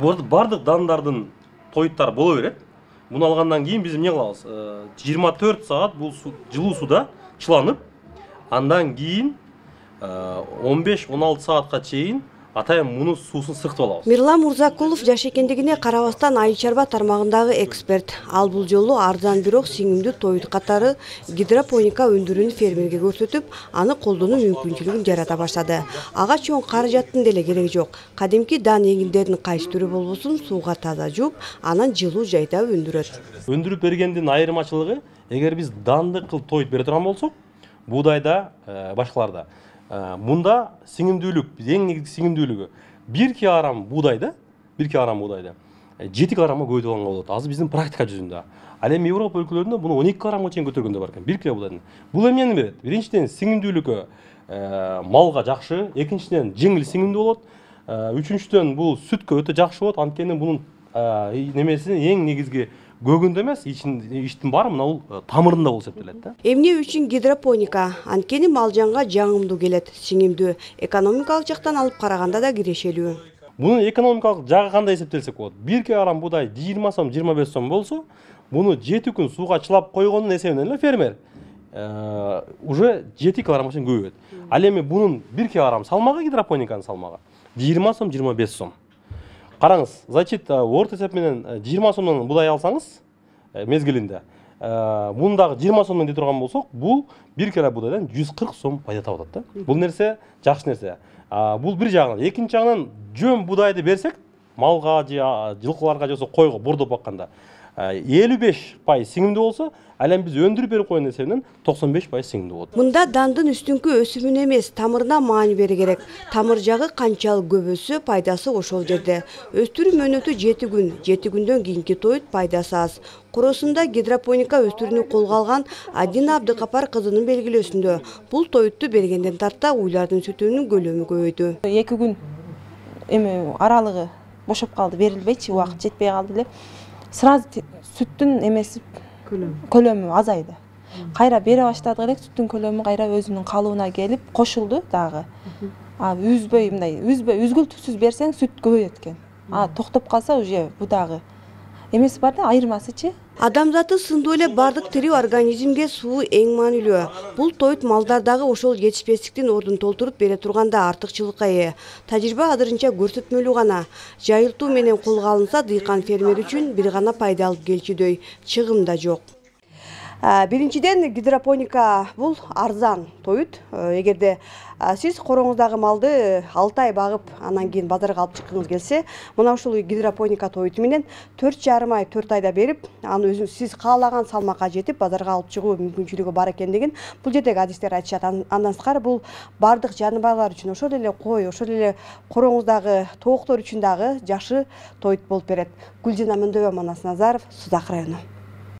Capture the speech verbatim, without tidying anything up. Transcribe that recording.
Бардык дандардын тоюттары боло берет. Муну алгандан кийин биз эмне кылабыз? жыйырма төрт саат бул жылуу суда чыланып, андан кийин он беш он алты саатка чейин атайын муну суусун сыктып алабыз. Мирлан Мурзакулов жаш экендигине карабастан айыл чарба тармагындагы эксперт. Ал бул жолу арзан бирок сиңимдүү тоют катары гидропоника өндүрүүнү фермерге көрсөтүп, аны колдонуу мүмкүнчүлүгүн жарата баштады. Ага чоң каражаттын деле кереги жок. Кадимки дан эгилдердин кайсы түрү болбосун сууга таза жууп, анан жылуу жайда өндүрөт. Өндүрүп бергендин айырмачылыгы, эгер биз данды кылып тоют бере турган болсок, буудайда, башкаларда мында сиңимдүүлүк, эң негизги сиңимдүүлүгү бир килограмм буудайда, бир килограмм буудайда жети килограммга көбөйтүп алганга болот. Азыр биздин практика жүзүндө. Ал эми Европа өлкөлөрүндө муну он эки килограммга чейин көтөргөндөр бар экен, бир кило буудайдын. Бул эмнени берет? Биринчиден сиңимдүүлүккө малга жакшы, экинчиден жеңил сиңимдүү болот, үчүнчүдөн бул сүткө өтө жакшы болот. Анткени бунун немеси эң негизги көгүндө эмес, иштин баары мына бул тамырында болуп эсептелет да. Эмне үчүн гидропоника? Анткени малжанга жагымдуу келет, сиңимдүү, экономикалык жактан алып караганда да кирешелүү. Мунун экономикалык жагы кандай эсептелсек болот? бир килограмм буудай жыйырма сом, жыйырма беш сом болсо, муну жети күн сууга чылап койгондун эсебинен эле фермер уже жети килограммга чейин көбөйөт. Ал эми бунун бир килограмм салмагы, гидропониканын салмагы жыйырма сом, жыйырма беш сом. Караңыз, значит, орто эсеп менен жыйырма сомдон буудай алсаңыз мезгилинде, мундагы жыйырма сомдон дей турган болсок, бул бир кило буудайдан жүз кырк сом пайда таап атат да. Бул нерсе жакшы нерсе. Бул бир жагынан, экинчи жагынан жөн буудайды берсек, малга же жылкыларга же койго бордоп бакканда элүү беш пайыз сиңимдүү болсо, ал эми биз өндүрүп берип койгон эсебинен токсон беш пайыз сиңимдүү болот. Мында дандын үстүңкү өсүмүнө эмес, тамырына маани бере керек. Тамыр жагы канчалык көп өссө, пайдасы ошол жерде. Өстүрүү мөөнөтү жети күн, жети күндөн кийинки тоют пайдасы аз. Коросунда гидропоника өстүрүүнү колго алган Адина Абдыкапар кызынын белгилөөсүндө бул тоютту бергенден тарта уйлардын сүтүнүн көлөмү көбөйдү. эки күн эми аралыгы бошоп калды, берилбейчи, убакыт жетпей калды эле. Сразу сүттүн эмеси көлөмү азайды. Кайра бере баштадык элек, сүттүн көлөмү кайра өзүнүн калыбына келип кошулду дагы. А үзбөй мындай, үзбөй, үзгүлтүксүз берсең сүт көбөйөт экен. А токтоп калса уже бу дагы эмеси бар да, айырмасычы. Адамзаты сындуу эле бардык тирүү организмге суу эң маанилүү. Бул тоют малдардагы ошол жетишпестиктин ордун толтуруп бере турганда артыкчылыкка ээ. Тажрыйба азырынча көрсөтмөлүү гана. Жайылтуу менен колго алынса, дыйкан фермер үчүн бир гана пайда алып келчүдөй, чыгым да жок. Биринчиден, гидропоника бул арзан тоют. Эгерде сиз короңуздагы малды алты ай багып, анан кийин базарга алып чыккыңыз келсе, мына ушул гидропоника тоюту менен төрт жарым ай, төрт айда берип, аны өзүңүз сиз каалаган салмакка жетип, базарга алып чыгуу мүмкүнчүлүгү бар экендигин бул жердеги адистер айтышат. Андан сырткары бул бардык жаныбарлар үчүн, ошол эле кой, ошол эле короңуздагы тооктор үчүн дагы жакшы тоют болуп берет. Гүлжина Мөндөгөн, Манас Назаров, Сузак району.